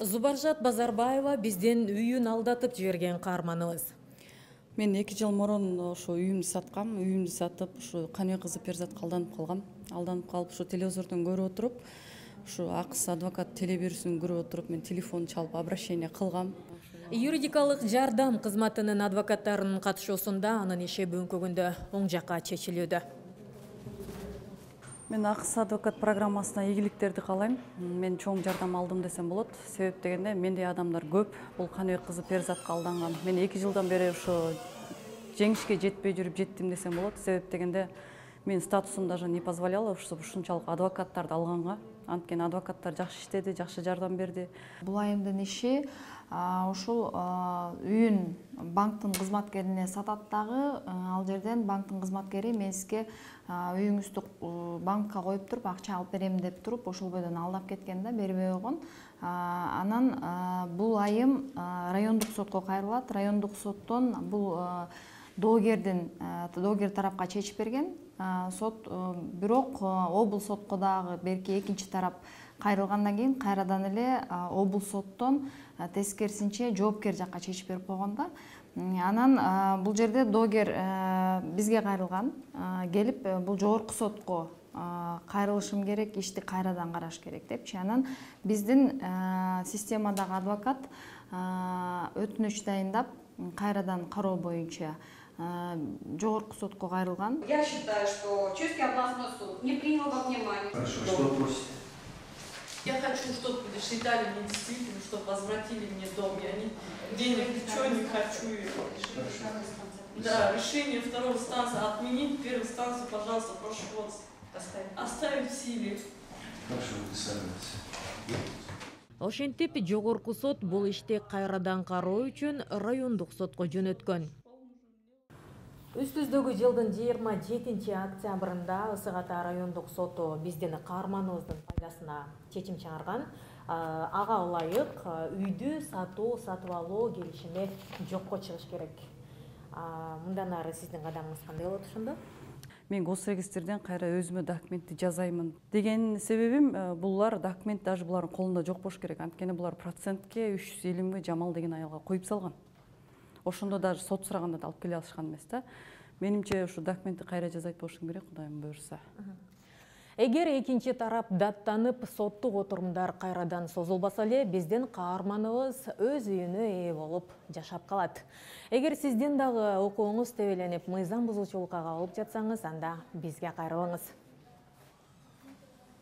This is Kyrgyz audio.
Зубаржат Базарбаева бизден үйүн алдатып жиберген каарманыбыз. Мен 2 жыл мурун ошо үйүмдү саткам. Үйүмдү сатып, ушу Каныбек кызы Перзатка алданып калгам. Алданып калып, ушу телевизордон көрүп отуруп, ушу Акс адвокат телебирүүсүн көрүп отуруп, мен телефон чалып обращение кылгам. Юридикалык жардам кызматынын адвокаттарынын катышуусунда анын иши бүгүнкү күндө оң жакка чечилүүдө. Мен Акс адвокат программасына ийгиликтерди каалайм. Мен чоң жардам алдым десем болот. Себеп дегенде мендей адамдар көп. Бул Каныбек кызы Перзатка алданган. Мен 2 жылдан бери ошо жеңишке жетпей жүрүп жеттим десем болот. Себеп дегенде мен статусум даже не позволяла ушунчалык адвокаттарды алганга. Анткени адвокаттар жакшы иштеди, жакшы жардам берди. Бул айымдын иши ушул үйүн банктын кызматкерине сатат дагы, ал жерден банктын кызматкери мезиске үйүңүздү банкка коюп туруп акча алып берем деп туруп ошол бойдон алдап кеткен да, бербей койгон. Анан бул айым райондук сотко кайрылат. Райондук соттон бул доогер тарапка чечип берген. Сот бирок облус сотко дагы берки экинчи тарап кайрылгандан кийин кайрадан эле облус соттон тескерисинче жоопкер жакка чечип берип койгон да. Анан бул жерде доогер бизге кайрылган, келип бул жогорку сотко кайрылышым керек, ишти кайрадан караш керек депчи. Анан биздин системадагы адвокат өтүнүч дайындап кайрадан кароо боюнча жогорку сотко кайрылган. Я считаю, что Чуйский областной суд не принял во внимание. Хорошо, что просите? Я хочу, чтобы считали мне действительно, чтобы возвратили мне дом. Я денег ничего не хочу. Да, решение второй инстанции отменить, первую инстанцию, пожалуйста, прошу вас оставить в силе. Хорошо, выписывайтесь. Ошентип жогорку сот бул ишти кайрадан кароо үчүн райондук сотко жөнөткөн. Үстүздөгү жылдын 27 октябрында Ысык Ата райондук соту биздин каарманыбыздын пайдасына чечим чыгарган. Ага ылайык үйдү сатып алуу келишими жокко чыгыш керек. Мындан ары сиздин кадамыңыз кандай болот ошондо? Мен госрегистрден кайра өзүмө документти жазаймын деген себебим булар документ даже булардын колунда жок болуш керек. Анткени булар процентке 350 миң Жамал деген аялга коюп салган. Ошондо даже сот сураганда да алып келе алышкан эмес да. Менимче ушу документти кайра жазайт болушум керек, Кудайым буйрса. Эгер экинчи тарап даттанып соттук отурумдар кайрадан созулбаса эле, биздин каарманыбыз өз үйүнө ээ болуп жашап калат. Эгер сиздин дагы укугуңуз тебеленип, мыйзам бузуучулукка кабылып жатсаңыз, анда бизге кайрылыңыз.